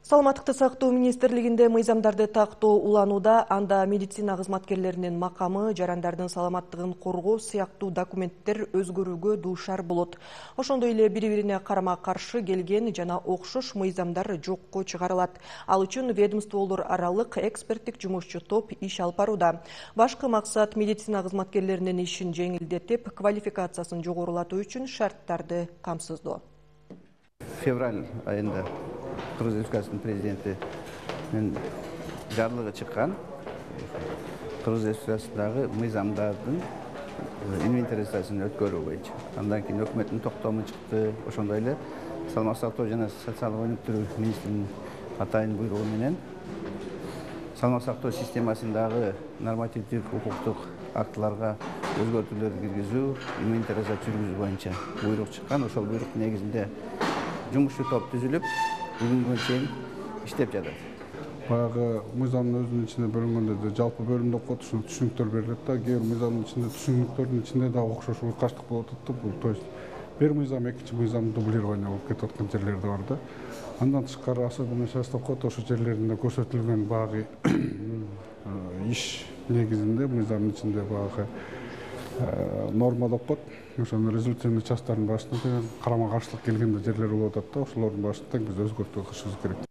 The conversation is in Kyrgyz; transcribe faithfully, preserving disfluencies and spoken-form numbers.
Саламаттыкты сактоо министрлигинде мыйзамдарды тактоо уланууда, анда медицина кызматкерлеринин макамы, жарандардын саламаттыгын коргоо сыяктуу документтер өзгөрүүгө дуушар болот. Ошондой эле бири-бирине карама-каршы келген жана окшош мыйзамдар жокко чыгарылат. Ал үчүн ведомстволор аралык эксперттик жумушчу топ иш алып барууда. Башкы максат медицина кызматкерлеринин ишин жеңилдетип, квалификациясын жогорулатуу үчүн шарттарды камсыздоо. Февраль айында Кыргыз Республикасынын президентинин жарлыгы чыккан. Кыргыз Республикасындагы мыйзамдардын инвентаризациясын өткөрүү боюнча. Андан кийин өкмөттүн токтому чыкты. Ошондой эле саламаттык сактоо жана социалдык өнүктүрүү министринин атайын буйругу менен саламаттык сактоо системасындагы нормативдик укуктук актыларга өзгөртүүлөрдү киргизүү, инвентаризация жүргүзүү боюнча буйрук чыккан. Ошол буйруктун негизинде жумушчу топ түзүлүп, бүгүнгө чейин иштеп жатат. Баягы мыйзамдын өзүнүн ичинде бөлүнгөндө да жалпы бөлүмдө окуп ушул түшүнүктөр берилет да, кээ бир мыйзамдын ичинде түшүнүктөрдүн ичинде да окшош уйкаштык болуп атат да. Бул то есть бир мыйзам экинчи мыйзам дублирование болуп кетип аткан жерлер да бар да. Андан тышкары особенно состав код ошол жерлеринде көрсөтүлгөн багы иш негизинде мыйзамдын ичинде багы норма деп коет. Ошонун резолюционный часттардын башында карама каршылык келген жерлер болуп атат да. Ошолордун башында биз өзгөртүү кылышыбыз керек.